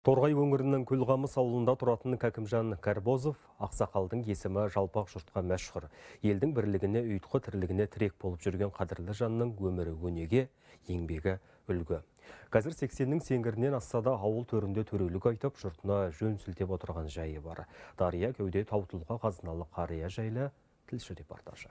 Торғай өңірінің Көлғамыс ауылында тұратын Кәкімжан Карбозов ақсақалдың есімі жалпақ жұртқа мәшһүр. Елдің бірлігіне, ұйытқы тірлігіне тірек болып жүрген қадірлі жанның өмірі өнеге, еңбегі үлгі. Қазір 80-нің сеңгірінен асса да ауыл төрінде төрелік айтып, жұртына жөн сілтеп отырған жайы бар. Дария кеуде таутылға қазыналы қария жайлы тілші репортажы.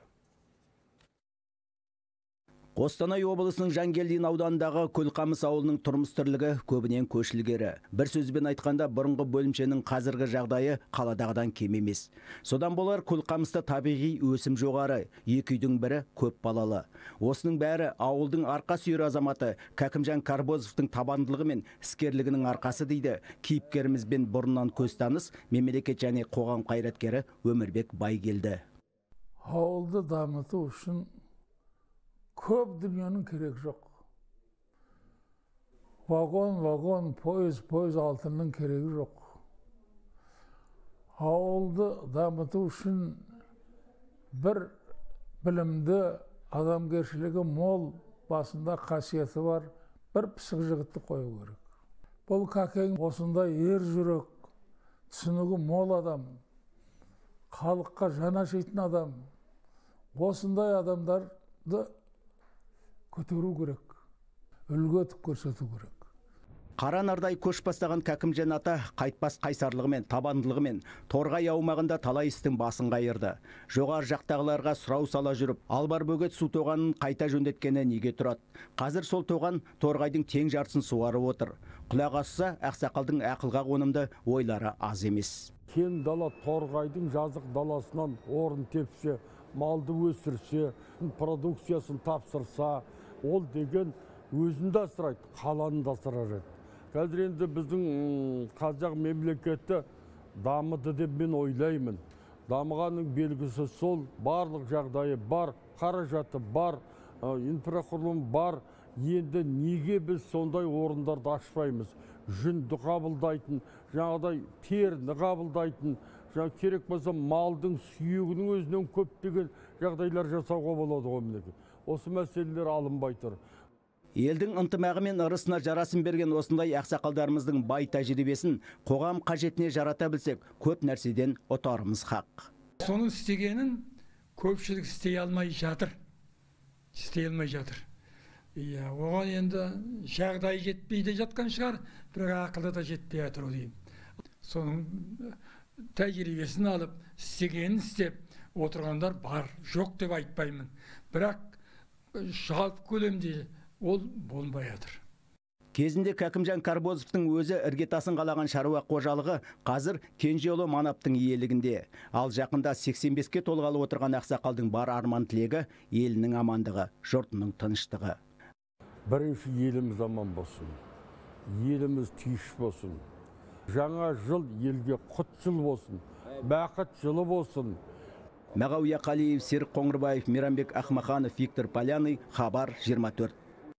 Қостанай облысының Жангелдин ауданындағы Көлқамыс ауылының тұрмыс тірлігі көбінен көшілгері. Бір сөзбен айтқанда, бұрынғы бөлімшенің қазіргі жағдайы қаладағыдан кем емес. Содан болар Көлқамыста табиғи өсім жоғары, екі үйдің бірі көп балалы. Осының бәрі ауылдың арқа сүйер азаматы Кәкімжан Карбозовтың табандылығы мен іскерлігінің арқасы дейді кейіпкерімізбен бұрыннан көз таныс мемлекет және қоғам қайраткері Өмірбек Байгелді. Ауылды дамыту үшін көп дүниенің керек жоқ. Вагон, поезд алтынның керегі жоқ. Ауылды дамыту үшін бір білімді, адамгершілігі мол, басында қасиеті бар, бір пысық жігітті қою керек. Бұл Кәкең осындай ер жүрек, түсінігі мол адам, халыққа жан ашитын адам, осындай адамдарды көтеру керек, үлгі етіп көрсету керек. Қара нардай көш бастаған Кәкімжан ата қайтпас қайсарлығымен, табандылығымен Торғай аумағында талай істің басын қайырды. Жоғар жақтағыларға сұрау сала жүріп, албар бөгет су тоғанын қайта жөнделткені неге тұрады? Қазір сол тоған Торғайдың тең жартысын суарып отыр. Құлақ асса, ақсақалдың ақылға қонымды ойлары аз емес. Кен дала Торғайдың жазық даласынан орын тепсе, малды өсірсе, продукциясын тапсырса, ол деген өзінде асырайды, қаланы да асырар еді. Қазір енді біздің қазақ мемлекеті дамыды деп мен ойлаймын. Дамығанның белгісі сол, барлық жағдайы бар, қаражаты бар, инфрақұрылым бар. Енді неге біз сондай орындарды ашпаймыз? Жүнді қабылдайтын, жаңағыдай теріні қабылдайтын, керек болса малдың сүйегінің өзінен көптеген жағдайлар жасауға болады ғой мінекей. Осы мәселелер алынбай тұр. Елдің ынтымағы мен ырысына жарасын берген осындай ақсақалдарымыздың бай тәжірибесін қоғам қажетіне жарата білсек, көп нәрседен ұтарымыз хақ. Соның істегенін көпшілік істей алмай жатыр. Оған енді жағдай жетпейді жатқан шығар, бірақ ақылы да жетпей жатыр деймін. Соның тәжірибесін алып, істегенін істеп отырғандар бар, жоқ деп айтпаймын. Бірақ жалпы көлемде ол болмай жатыр. Кезінде Кәкімжан Карбозовтың өзі іргетасын қалаған шаруа қожалығы қазір Кенжеұлы Манаптың иелігінде. Ал жақында 85-ке толғалы отырған ақсақалдың бар арман тілегі елінің амандығы, жұртының тыныштығы. Бірінші еліміз аман болсын, еліміз тыныш болсын. Жаңа жыл елге құт жыл болсын, бақыт жылы болсын. Мағауия Қалиев, Серік Қоңырбаев, Мейрамбек Ахмаханов, Виктор Поляный, Хабар 24.